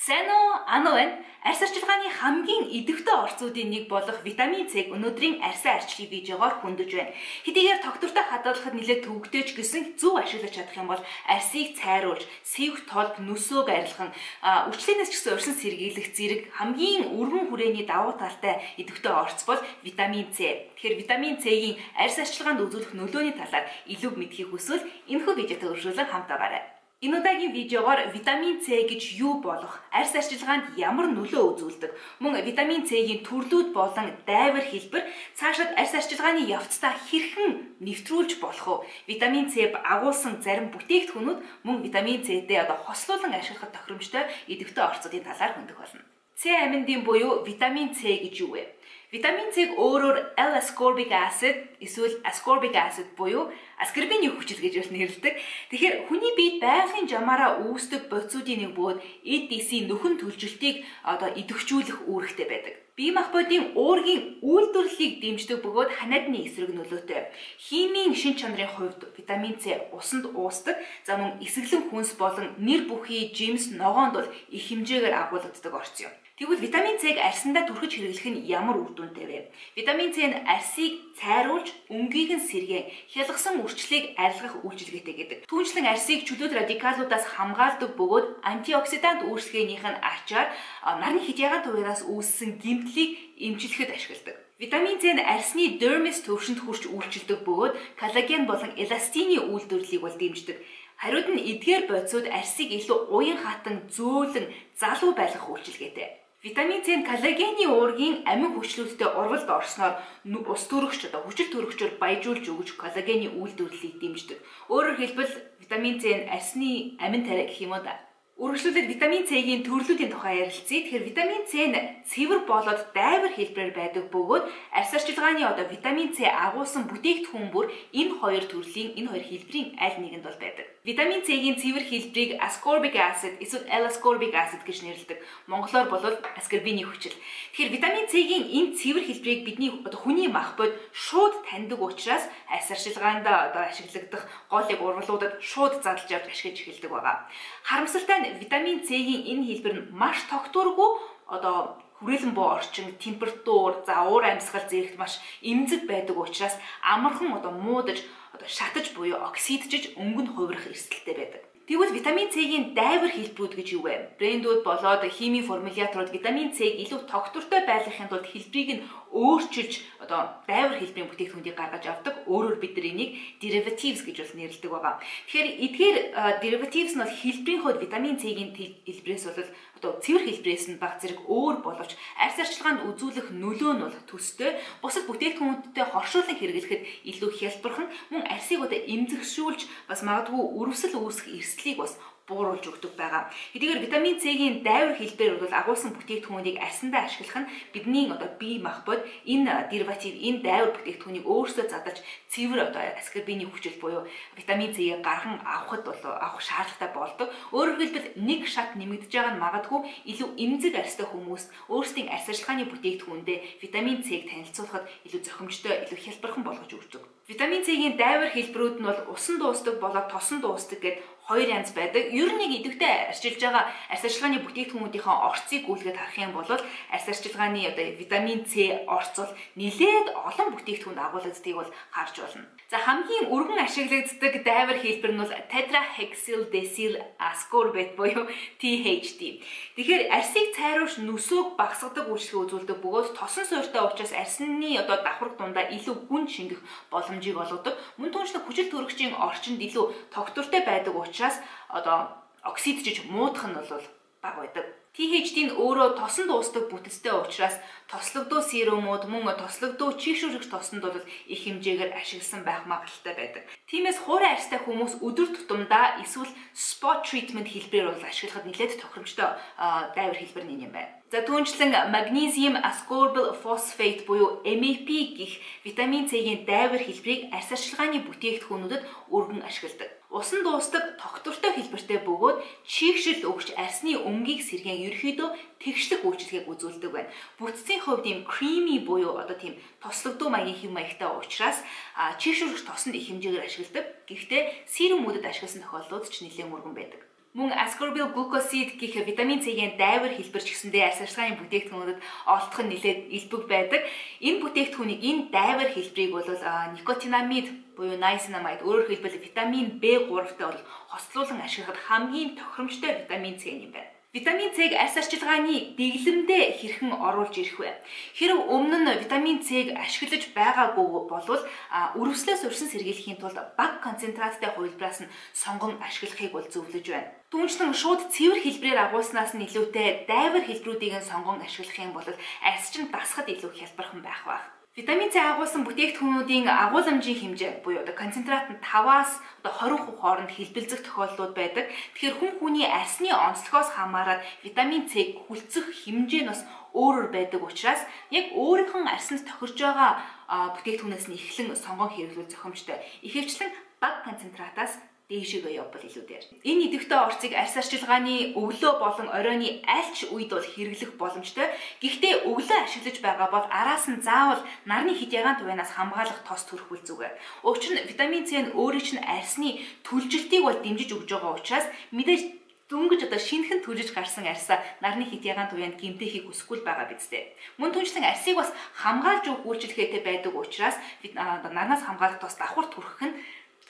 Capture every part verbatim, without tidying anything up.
Сайн уу? Ано байна. Арьс арчилгааны хамгийн идэвхтэй орцуудын нэг болох витамин С-г өнөөдрийн арьсан арчлалын видеогоор хөндөж байна. Хэдийгээр доктортой хадгалахад нэлээд төвөгтэйч гэсэн зөв ашиглаж чадах юм бол арьсыг цайруулж, сэвх толб нүсөөг арилгахан, үрчлэнээс ч гэсэн урьсан сэргийлэх зэрэг хамгийн өргөн хүрээний давуу талтай идэвхтэй орц бол витамин С. Тэгэхээр витамин С-ийн арьс арчилгаанд үзүүлэх нөлөөний талаар илүү мэдхийг хүсвэл энэхүү видеотой үргэлжлүүлэн хамт байгаарай. Энэ удаагийн видеогоор витамин С гэж юу болох, арьс арчилгаанд ямар нөлөө үзүүлдэг, мөн витамин С-ийн төрлүүд болон дайвар хэлбэр цаашид арьс арчилгааны явцдаа хэрхэн нэвтрүүлж болох вэ? Витамин С агуулсан зарим бүтээгдэхүүнүүд мөн витамин С-тэй одоо хослуулан ашиглахад тохиромжтой идэвхтэй орцуудын талаар хөндөх болно. С аминдын буюу витамин С гэж юу вэ? Витамин С-г өөрөөр L-ascorbic acid эсвэл ascorbic acid буюу аскорбины хүчил гэж нэрлэдэг. Тэгэхээр хүний биед байгалийн жамаараа үүсдэг бодисуудын нэг бөгөөд эд эсийн нөхөн төлжилтийг одоо идэвхжүүлэх үүрэгтэй байдаг. Бие махбодын уургийн үйлдвэрлэлийг дэмждэг бөгөөд ханиадны эсрэг нөлөөтэй. Химийн шин чанарын хувьд витамин С усанд уусдаг. За мөн эсэглэн хүнс болон нэр бүхий, жимс, ногоонд бол их хэмжээгээр агуулдаг орц юм. Тэгвэл витамин С-г арьсандаа түрхэж хэрэглэх нь ямар үр дүнтэй вэ? Витамин С нь арьсыг цайруулж, өнгийг нь сэргээн, хялгасан үрчлийг арилгах үйлчилгээтэй гэдэг. Түүнчлэн арьсыг чөлөөт радикалуудаас хамгаалдаг бөгөөд антиоксидант үүсгээнийх нь ачаар нарны хидягаан туяраас үүссэн гэмтлийг эмчлэхэд ашигладаг. Витамин С нь арьсны дермис төвшөнд хүрч үйлчилдэг бөгөөд коллаген болон эластины үйлдвэрлэлийг бол дэмждэг. Хариуд нь эдгээр бодисууд арьсыг илүү уян хатан, зөөлөн, залуу байлгах үйлчилгээтэй. Витамин С нь коллагены уургийн амин хүчлүүдтэй урвалд орсноор ус төрөгч одоо хүчил төрөгчөөр баяжуулж өгч коллагены үйлдвэрлэлийг дэмждэг. Өөрөөр хэлбэл витамин С нь арьсны амин тариа гэх юм уу да. Үргэлжлүүлээд витамин С-ийн төрлүүдийн тухай ярилцъя. Тэгэхээр витамин С нь цэвэр болоод дайвар хэлбэрээр байдаг бөгөөд арьс арчилгааны одоо витамин С агуулсан бүтээгдэхүүн бүр энэ хоёр төрлийн энэ хоёр хэлбэрийн аль нэгэнд бол байдаг. Витамин С-ийн цэвэр хэлбэрийг ascorbic acid эсвэл L-ascorbic acid гэж нэрлэдэг. Монголоор бол аскорбины хүчил. Тэгэхээр витамин С-ийн энэ цэвэр хэлбэрийг бидний одоо хүний махбод шууд таньдаг учраас арьс арчилгаанд одоо ашиглагдах голыг урвалуудад шууд задлж авч ашиглаж эхэлдэг байгаа. Харамсалтай нь витамин С-ийн энэ хэлбэр нь маш тогтворгүй одоо хүрээлэн буу орчин, температур, за уур амьсгал зэрэгт маш эмзэг байдаг учраас амархан одоо муудаж, одоо шатаж буюу оксиджиж өнгөнд хувирах эрсдэлтэй байдаг. Тэгвэл витамин С-ийн дайвар хэлбэрүүд гэж юу вэ? Брэндүүд болоод химийн формуляторууд витамин С-г илүү тогтвортой байлгахын тулд хэлбэрийг нь өөрчилж одоо дайвар хэлбэрийн бүтээгдэхүүнийг гаргаж авдаг. Өөрөөр бид нар энийг derivatives гэж бол нэрлэдэг байгаа. Тэгэхээр эдгээр derivatives нь бол хэлбэрийн хувьд витамин С-гийн хэлбэрээс бол одоо цэвэр хэлбэрээс нь баг зэрэг өөр боловч арьс арчилгаанд үзүүлэх нөлөө нь бол төстэй. Бусад бүтээгдэхүүнүүдтэй хоршуулан хэрэглэхэд илүү хялбархан мөн арьсыг одоо эмзэгшүүлж бас магадгүй өрөвсөл үүсэх эрсдлийг бас бууруулж өгдөг байгаа. Хэдийгээр витамин С-гийн дайвар хэлбэр бол агуулсан бүтээгдэхүүнийг арьсандаа ашиглах нь бидний одоо бие махбод энэ дериватив, энэ дайвар бүтээгдэхүүнийг өөрсдөө задлж цэвэр одоо аскорбины хүчил буюу витамин С-ийг гарган авахд бол авах шаардлагатай болдог. Өөрөөр хэлбэл нэг шат нэмэгдэж байгаа нь магадгүй илүү эмзэг арьстай хүмүүс өөрсдийн арьс арчилгааны бүтээгдэхүүндээ витамин С-г танилцуулахад илүү зохимжтой, илүү хялбархан болгож өгдөг. Витамин С-гийн дайвар хэлбэрүүд нь бол усан дуустдаг болоод тосон дуустдаг гэдэг хоёр янз байдаг. Ер нь нэг идэвхтэй арчилж байгаа арьс арчилгааны бүтээгдэхүүнүүдийн орцыг гүйлгээд харах юм бол арьс арчилгааны одоо витамин С орц бол нэлээд олон бүтээгдэхүүнд агуулгадгийг бол харж болно. За хамгийн өргөн ашиглагддаг дайвар хэлбэр нь бол tetrahexyldecyl ascorbate буюу T H D. Тэгэхээр арьсыг цайруулж нүсөөг багасгадаг үйлчлэгээ үзүүлдэг бөгөөд тосон суурьтай учраас арьсны одоо давхарх дундаа илүү гүн шингэх боломжийг олгодог. Мөн түүнчлэн хүчил төрөгчийн орчинд илүү тогтвортой байдаг учраас одоо оксиджиж муудах нь бол бага байдаг. T H D нь өөрөө тосон дуустдаг бүтцтэй учраас тослогдуу серумууд мөн тослогдуу чийгшүүрэгч тосонд бол их хэмжээгээр ашигласан байх магадлалтай байдаг. Тиймээс хуурай арьстай хүмүүс өдөр тутамдаа эсвэл spot treatment хэлбэрээр бол ашиглахад нэлээд тохиромжтой дайвар хэлбэр нь юм байна. За түүнчлэн magnesium ascorbyl phosphate буюу M A P гэх витамин С-гийн дайвар хэлбэрийг арьс арчилгааны бүтээгдэхүүнүүдэд өргөн ашигладаг. Усан дуустдаг тогтвортой хэлбэртэй бөгөөд чийгшил өгч арьсны өнгийг сэргээн ерөөхдөө тэгшлэх үйлчилгээг үзүүлдэг байна. Бүтцийн хувьд ийм creamy буюу одоо тийм тослогдуу маягийн хэм маягтай учраас чийгшүүлэгч тосонд их хэмжээгээр ашигладаг. Гэхдээ серумүүдэд ашигласан тохиолдлууд ч нэлээд мөргөн байдаг. Мөн ascorbyl glucoside гэх витамин С-ийн дайвар хэлбэрч гэсэндээ арьс арчилгааны бүтээгдэхүүнүүдэд олдох нь нэлээд элбэг байдаг. Энэ бүтээгдэхүүнийг энэ дайвар хэлбэрийг бол никотинамид буюу niacinamide өөрөөр хэлбэл витамин бэ гуравтай бол хослуулан ашиглахад хамгийн тохиромжтой витамин С юм байна. Витамин С-г арьс арчилгааны дэглэмдээ хэрхэн оруулж ирэх вэ? Хэрэв өмнө нь витамин С-г ашиглаж байгаагүй болвол өрөвслөөс урьсан сэргийлэхийн тулд бага концентраттай хувилбараас нь сонгон ашиглахыг бол зөвлөж байна. Түүнчлэн шууд цэвэр хэлбэрээр агуулснаас нь илүүтэй дайвар хэлбэрүүдийг сонгон ашиглах юм бол арьс чинь дасахад илүү хялбархан байх баг. Витамин С агуулсан бүтээгдэхүүнүүдийн агуулмжийн хэмжээ буюу одоо концентрат нь таваас одоо хорин хувь хооронд хэлбэлзэх тохиолдлууд байдаг. Тэгэхээр хүн хүний арсны онцлогоос хамаарат витамин С хүлцэх хэмжээ нь бас өөрөөр байдаг учраас яг өөрийнхөө арсанд тохирж байгаа бүтээгдэхүүнээс нь эхлэн сонгон хэрэглүүл зохимжтой. Ихэвчлэн бага концентратаас дээшээгээ явбал илүү дээр. Энэ идэвхтэй орцыг арьс арчилгааны өглөө болон оройны аль ч үед бол хэрэглэх боломжтой. Гэхдээ өглөө ашиглаж байгаа бол араас нь заавал нарны хэд ягаан туянаас хамгаалах тос төрөхүүл зүгээр. Учир нь витамин С нь өөрийн чинь арьсны түлжилтийг бол дэмжиж өгж байгаа учраас мэдээж дөнгөж одоо шинэхэн түлжиж гарсан арьсаа нарны хэд ягаан туяанд гэмтээхийг хүсэхгүй байгаа бидтэй. Мөн түнчлэн арьсыг бас хамгаалж өгөх үйлчлэгээтэй байдаг учраас нарнаас хамгаалах тос давхар түрхэх нь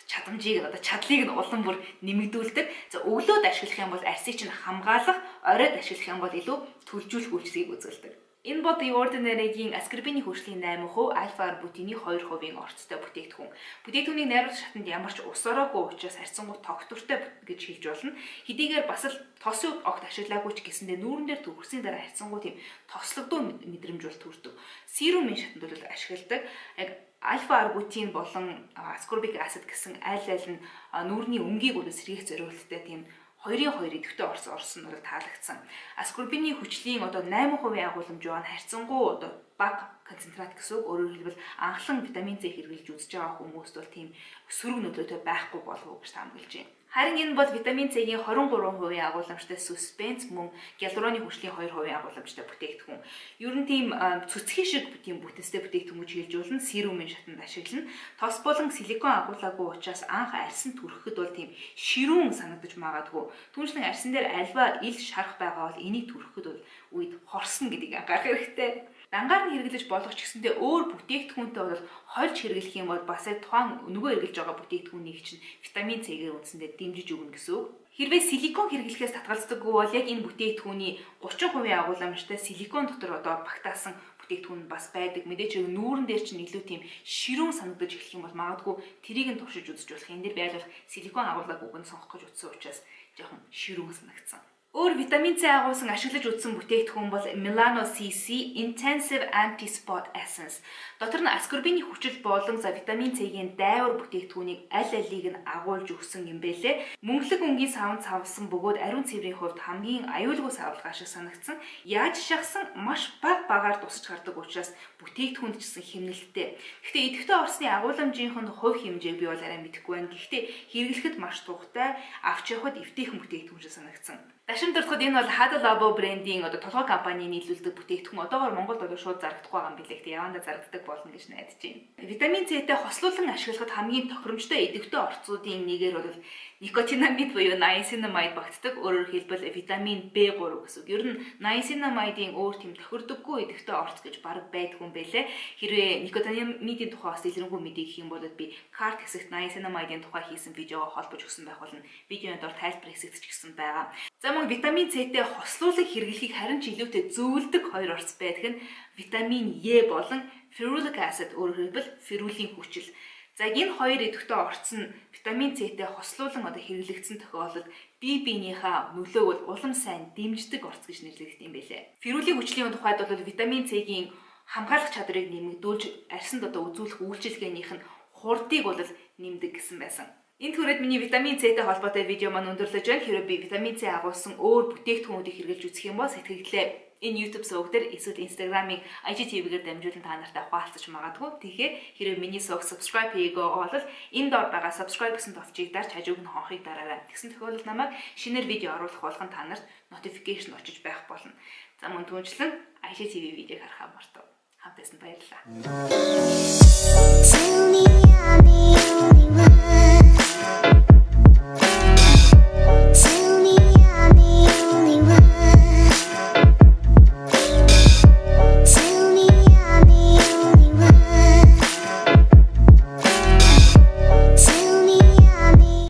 чадамжийг одоо чадлыг нь улам бүр нэмэгдүүлдэг. За өглөөд ашиглах юм бол арьсыг чинь хамгаалах, оройд ашиглах юм бол илүү төлжүүлэх үйлчлэгийг үзүүлдэг. Энэ бол The Ordinary-гийн аскорбины хөрслийн найман хувь, альфа-арбутины хоёр хувийн орцтой бүтээгдэхүүн. Бүтээгдэхүүнийг найруулах шатанд ямар ч ус ороогүй учраас харьцангуй тогтвортой гэж хэлж болно. Хэдийгээр бас л тосын огт ашиглаагүй ч гэсэндээ нүүрэн дээр төгсгийн дараа харьцангуй тийм тослогдоо мэдрэмж бол төрдөг. Серумын шатанд бол ашигладаг. Яг альфа-арбутин болон аскорбик acid гэсэн аль аль нь нүүрний өнгийг бол сэргийлэх зорилттой тийм хоёрын хоёр идэвхтэй орс орсон нь таалагдсан. Аскорбины хүчлийн одоо найман хувийн агуулмж байгаа нь харьцангуй одоо бага концентрат гэсэн үг. Өөрөөр хэлбэл анхлан витамин С хэрэглэж үзэж байгаа хүмүүст бол тийм сөрөг нөлөөтэй байхгүй болов уу гэж таамаглаж байна. Харин энэ бол витамин С-ийн двадцать три хувийн агуулмжтай суспенс мөн гиалуроны хүчлийн two хувийн агуулмжтай бүтээгдэхүүн. Ер нь тийм цэцгийн шиг тийм бүтэнстэй бүтээгдэхүүн гэж хэлж болно. Серумын шатанд ашиглана. Тос болон силикон агуулаагүй учраас анх арьсан түрхэхэд бол тийм ширүүн санагдаж магадгүй. Түүнчлэн арьсан дээр альва ил шарах байгаа бол энийг түрхэхэд бол үед хорсно гэдгийг анхаарах хэрэгтэй. Дангаар нь хэрэглэж болох ч гэсэндээ өөр бүтээгдэхүүнтэй бол хольж хэрэглэх юм бол бас тухайн нөгөө хэрэглэж байгаа бүтээгдэхүүнийг чинь витамин С-гээр үндсэндээ дэмжиж өгнө гэсэн үг. Хэрвээ силикон хэрэглэхээс татгалздаггүй бол яг энэ бүтээгдэхүүний thirty хувийн агуулмжтай силикон дотор одоо багтаасан бүтээгдэхүүн бас байдаг. Мэдээч нүүрэн дээр чинь илүү тийм ширүүн санагдаж эхлэх юм бол магадгүй тэрийг нь туршиж үзэж болох. Энэ дээр байлгах силикон агуулгаг үгэнд сонгох гэж утсан учраас жоохон ширүүн санагдсан. Өөр витамин С агуулсан ашиглаж үзсэн бүтээгдэхүүн бол Melano C C Intensive Anti-Spot Essence. Дотор нь аскорбины хүчил болон за витамин С-ийн дайвар бүтээгдэхүүнийг аль алийг нь агуулж өгсөн юм бэлээ. Мөнгөлөг өнгийн савнд савлсан бөгөөд ариун цэврийн хувьд хамгийн аюулгүй савлгаа шиг санагдсан. Яаж шахсан маш бага багаар тусч гардаг учраас бүтээгдэхүүнд ч гэсэн хэмнэлттэй. Гэхдээ идэвхтэй орсны агуулмжийнхэнд хувь хэмжээг би бол арай мэдэхгүй байна. Гэхдээ хэрэглэхэд маш тухтай, авч явахад эвтэйхэн бүтээгдэхүүн шиг санагдсан. Дашин дуртахад энэ бол Hada Labo брендийн одоо толгой компани нийлүүлдэг бүтээгдэхүүн. Одоогоор Монголд бол шууд зарагдахгүй байгаа юм билээ. Гэхдээ явандаа зарагддаг болно гэж найдаж байна. Витамин С-тэй хослуулан ашиглахад хамгийн тохиромжтой идэвхтэй орцуудын нэгээр бол никотинамид буюу niacinamide багтдаг. Өөрөөр хэлбэл витамин бэ three гэсэн үг. Ер нь niacinamide-ийн өөр тийм тохирдоггүй идэвхтэй орц гэж бараг байдгүй юм байлээ. Хэрвээ никотинамидын тухай бас илэрхийлэн мэдээ гэх юм бол би карт хэсэгт niacinamide-ийн тухай хийсэн видеого холбож өгсөн байх болно. Видеоны дор тайлбар хэсэгт ч гэсэн байгаа. За мөн витамин С-тэй хослуулан хэрэглэхийг харин ч илүүтэй зөвлөдөг хоёр орц байдаг нь витамин Е болон ferulic acid өөрөөр хэлбэл ферулийн хүчил. За энэ хоёр идэвхтэй орц нь витамин С-тэй хослуулан одоо хэрэглэгдсэн тохиолдолд бие биенийхээ нөлөөг улам сайн дэмждэг орц гэж нэрлэгдэх юм байлээ. Ферулийн хүчлийн тухайд бол витамин С-ийн хамгаалах чадрыг нэмэгдүүлж арьсанд одоо үзүүлэх үйлчилгээнийх нь хурдыг бол нэмдэг гэсэн байсан. Энд хүрээд миний витамин С-тэй холбоотой видео маань өндөрлөж байна. Хэрэв би витамин С агуулсан өөр бүтээгдэхүүнүүдийг хэрэглэж үзэх юм бол сэтгэлдээ энэ YouTube суваг дээр эсвэл Instagram-ыг I G T V-гээр дамжуулан та нартай хуваалцаж магадгүй. Тэгэхээр хэрэв миний суваг subscribe хийгээгүй бол энэ доор байгаа subscribe гэсэн товчийг дарж хажууг нь хонхыг дараарай. Тэгсэн тохиолдолд намайг шинээр видео оруулах болгон та нарт notification очиж байх болно. За мөн түүнчлэн I G T V видеог харахаа мартав. Хамтдаа баярлалаа.